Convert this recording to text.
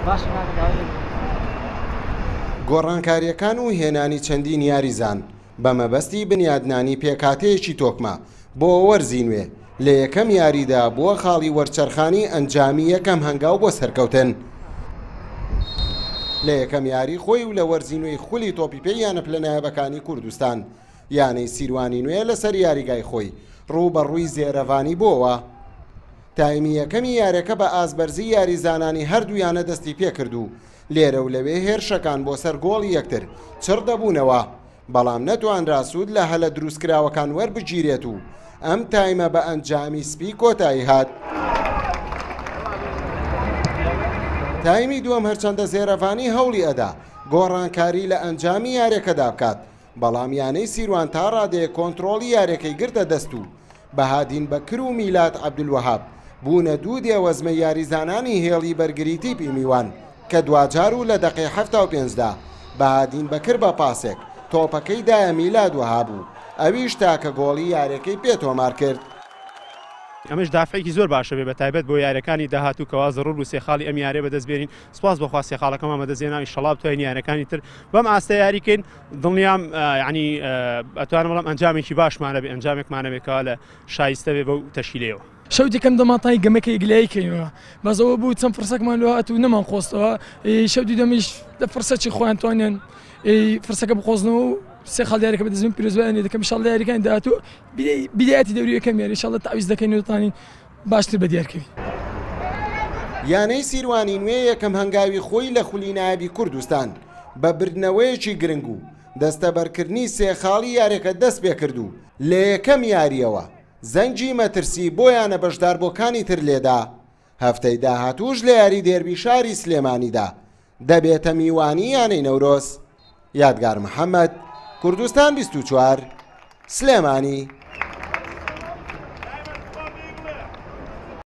باشە کاکە داوای لێبوردن. گۆڕانکارییەکان و هێنانی چەندین یاریزان بە مەبەستی بنیادنانی پێکهاتەیەکی تۆکمە بۆ وەرزی نوێ، لە یەکەم یاریدا بووە خاڵی وەرچەرخانی ئەنجامی یەکەم هەنگاو بۆ سەرکەوتن. لە یەکەم یاری خۆی و لە وەرزی نوێی خولی تۆپی پێی یانە پلە نایابەکانی کوردستان، یانەی سیروانی نوێ لەسەر یاریگای خۆی ڕووبەڕووی زێرەڤانی بۆوە. تایمی یەکەمی یاریەکە بە ئاستبەرزی یاریزانانی هەردوو یانە دەستی پێکرد و لێرە و لەوێ هێرشەکان بۆ سەر گۆڵی یەکتر چڕ دەبوونەوە، بەڵام نەتوانرا سوود لە هەلە دروستکراوەکان وەربگیرێت و ئەم تایمە بە ئەنجامی سپی کۆتایی هات. تایمی دووەم هەرچەندە زێرەڤانی هەوڵی ئەدا گۆڕانکاری لە ئەنجامی یاریەکەدا بکات، بەڵام یانەی سیروان تا ڕادەیەک کۆنترۆڵی یاریەکەی گرتە دەست و بەهادین بەکر و میلاد عەبدولوەهاب بوونە دوو دێوەزمەی یاریزانانی هێڵی بەرگری تیپی میوان کە دواجار و لە دەقەی 75 دا بەهادین بەکر بە پاسێک تۆپەکەی دایە میلاد وەهاب و ئەویش تاکە گۆڵی یاریەکەی پێ تۆمار کرد. ئەمەش دافعێکی زۆر باشە بێ بە تایبەت بۆ یاریەکانی داهاتوو کەوا زەڕوور بوو سێ خاڵی ئەم یاریە بەدەست بێنین سوپاس بۆ خوا سێ خاڵەکەمان بەدەست هێنا ئیشەڵا بتوانین یاریەکانی تر بەم ئاستە یاری کەین دڵنیام یعنی ئەتوانم بڵێم ئەنجامێکی باشمان هەبێ ئەنجامێکمان هەبێ کەوا لە شایستە بێ بەو تەشکیلەیەوە. شەوتی کەم دەماتای گەمەکە یەکلایی کەینەوە بەس ئەوە بوو چەند فرسەکمان لۆ هات و نەمان قۆستەوە شەوتی دەمیش لە فرسەکی خۆیان توانیان فرسەکە بقۆزنەوە و سێ خاڵ یاریەکە بەدەست بێنن پیرۆزبایان لێ دەکەم ئیشاڵڵا یاریەکانی داهاتوو بیدایەتی دەوری یەکەم یاری ئیشاڵڵا تەعویز دەکەین و دەتوانین باشتر بەدیار کەوین. یانەی سیروانی نوێ یەکەم هەنگاوی خۆی لە خولی نایابی کوردستان بە بردنەوەیەکی گرنگ و دەستەبەرکردنی سێ خاڵی یاریەکە دەستپێکرد و لە یەکەم یارییەوە زەنگی مەترسی بۆ یانە بەشداربووەکانی تر لێدا، هەفتەی داهاتووش لە یاری دێربی شاری سلێمانیدا دەبێتە میوانی یانەی نەورۆز. یادگار محەمەد، کوردستان 24، سلێمانی.